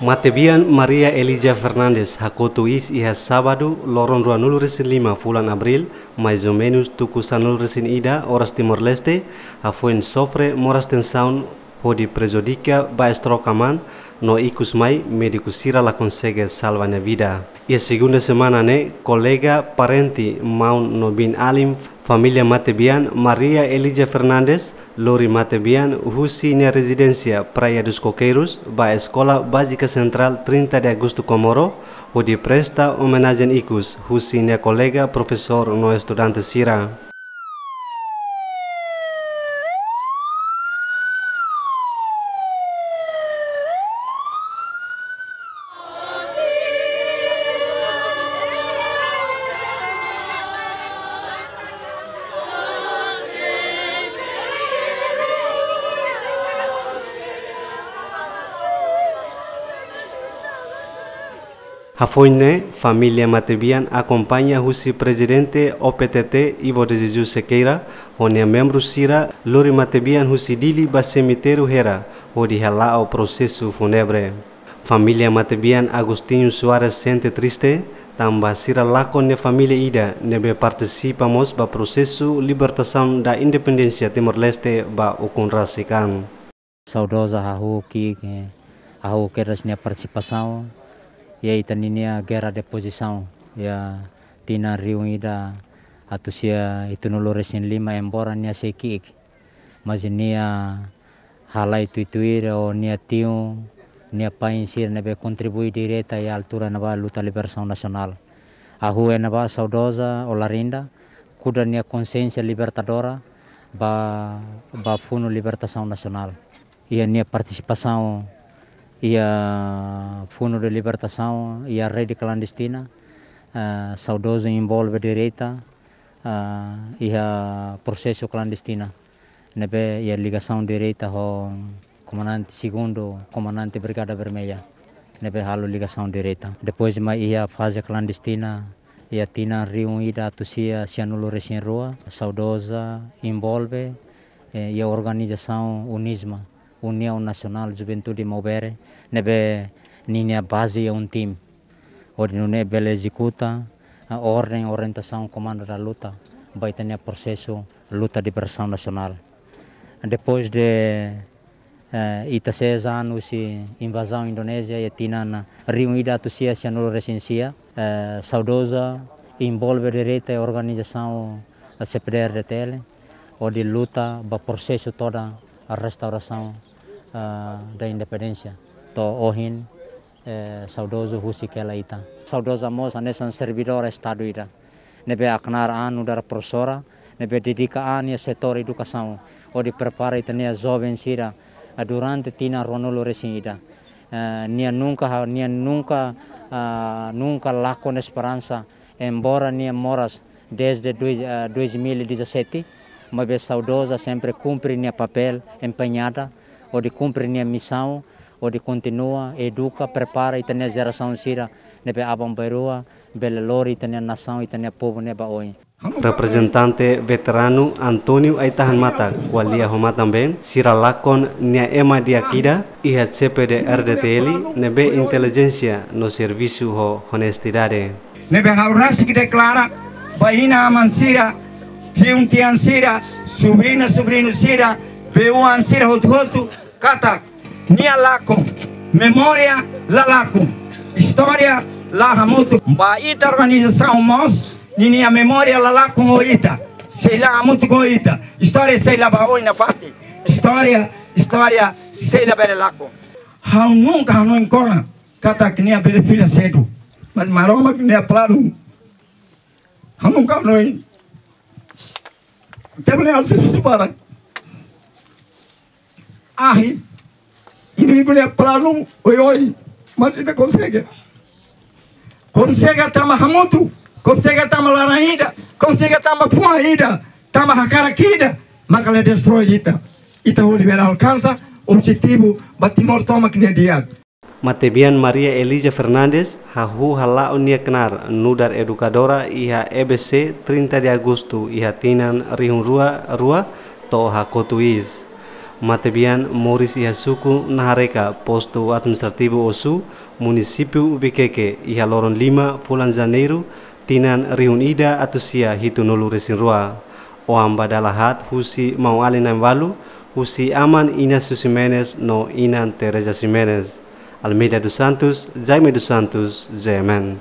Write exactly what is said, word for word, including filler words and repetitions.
Matebian Maria Elija Fernandes hakotu iis iha sábadu, loron ruanulu-resin-lima fulan Abríl, mais ou menus tuku sanulu-resin-ida oras Timor-Leste, hafoin sofre moras tensaun hodi prejudika ba estroke aman, no ikus mai médiku sira la konsege salva nia vida. Iha segunda semana ne'e, kolega, parente, maun no biin-alin família matebian Maria Elija Fernandes lori matebian husi nia rezidénsia Praia dos Coqueiros ba Eskola Bázika Sentrál trinta de Agosto Comoro, hodi presta omenajen ikus husi nia kolega, profesór no estudante sira. Hafoin ne'e, família matebian akompaña husi prezidente O P T T, Ivo de Jesus Sequeira, ho nia membru sira lori matebian husi Dili ba semitériu Hera, hodi hala'o prosesu fúnebre. Família matebian Agostinho Soares sente triste, tanba sira lakon nia família ida ne'ebé partisipa mós ba prosesu libertasaun da independénsia Timor-Leste ba ukun rasik an. Saudoza hahú ki'ik, hahú kedas nia partisipasaun iha ita-nia gerra de pozisaun iha tinan rihun ida atus sia hitunulu-resin-lima, embora nia sei ki'ik, mas nia halai tuituir ho nia tiun, nia pain sira ne'ebé kontribui direta iha altura ne'ebá luta libertasaun nasionál. Hahú iha ne'ebá saudoza Olarinda, kuda nia konsiénsia libertadora ba, ba funu libertasaun nasionál. Iha nia partisipasaun iha funu de libertasaun iha rede klandestina, eh, saudozu envolve direta, eh, iha prosesu klandestina ne'ebé iha ligasaun direta ho komandante, segundu komandante Brigada Vermelha, ne'ebé halo ligasaun direta. Depois mai iha faze klandestina, iha tinan rihun ida atus sia sianulu-resin-rua, saudoza envolve, eh, iha organizasaun UNISMA, União Nacional Juventude Maubere, ne'ebé ninia baze iha UNTIM, hodi nune'e bele ezekuta, ah, orden, orientasaun, komandu da luta ba ita-nia prosesu luta libertasaun nasionál. Depois de, eh, ita seis anos husi invazaun Indonézia, iha tinan rihun ida atus sia sianulu-resin-sia, eh, saudoza envolve direta iha organizasaun, eh, C P D R D T L, hodi luta ba prosesu todan restaurasaun, eh, da independénsia. To'o ohin, eh, saudozu husik hela ita. Saudoza mós hanesan servidór Estadu ida ne'ebé knaar an nu'udar profesora, ne'ebé dedika an iha setór edukasaun, hodi prepara ita-nia joven sira, ah, durante tinan ruanulu-resin-ida. Eh, nia nunka ha-, nia nunka, ah, nunka lakon esperansa, embora nia moras desde dois, ah, dois mil e dezassete, maibé saudoza sempre kumpre nia papél empeñada, hodi kumpre nia misaun, hodi kontinua eduka, prepara ita-nia jerasaun sira ne'ebé aban-bainrua bele lori ita-nia nasaun, ita-nia povu ne'e ba oin. Reprezentante veteranu António Aitahan Mata, ko'alia ho matan-been, sira lakon nia ema di'ak ida iha C P D R D T L ne'ebé intelijénsia no servisu ho onestidade. Ne'ebé ha'u rasik deklara ba inan-aman sira, tiun-tian sira, sobriña-sobriñu sira, bee-oan sira hotu-hotu, katak nia lakon, memória la lakon, istória la hamutuk. Ba ita organizasaun mós, ninia memória la lakon ho ita, sei la hamutuk ho ita, istória sei la ba oin nafatin, istória, istória sei la bele lakon. Ha'u nunka hanoin kona katak nia bele fila sedu. Mas Maromak nia planu, ha'u nunka hanoin. Tebele al servisu para. Ahi, inimigu nia planu oioin, mas ita konsege. Konsege tanba hamutuk, konsege tanba laran ida, konsege tanba fuan ida, tanba hakarak ida, maka la destroi ita. Ita hodi bele alkansa objetivu ba Timor tomak nia di'ak. Matebian Maria Elija Fernandes hahú hala'o nia knaar nu'udar edukadora iha E B C trinta de Agosto iha tinan rihun rua rua to'o hakotu iis. Matebian moris iha suku Nahareka, postu administrativu Osu, munisípiu Vikeke, iha loron lima fulan Janeiru, tinan rihun ida atus sia hitunulu resin rua. Oan ba dala haat husi maun-alin na'in-ualu, husi Aman Inácio Ximenes no Inan Teresa Ximenes. Almeida dos Santos, Jaime dos Santos, G M N.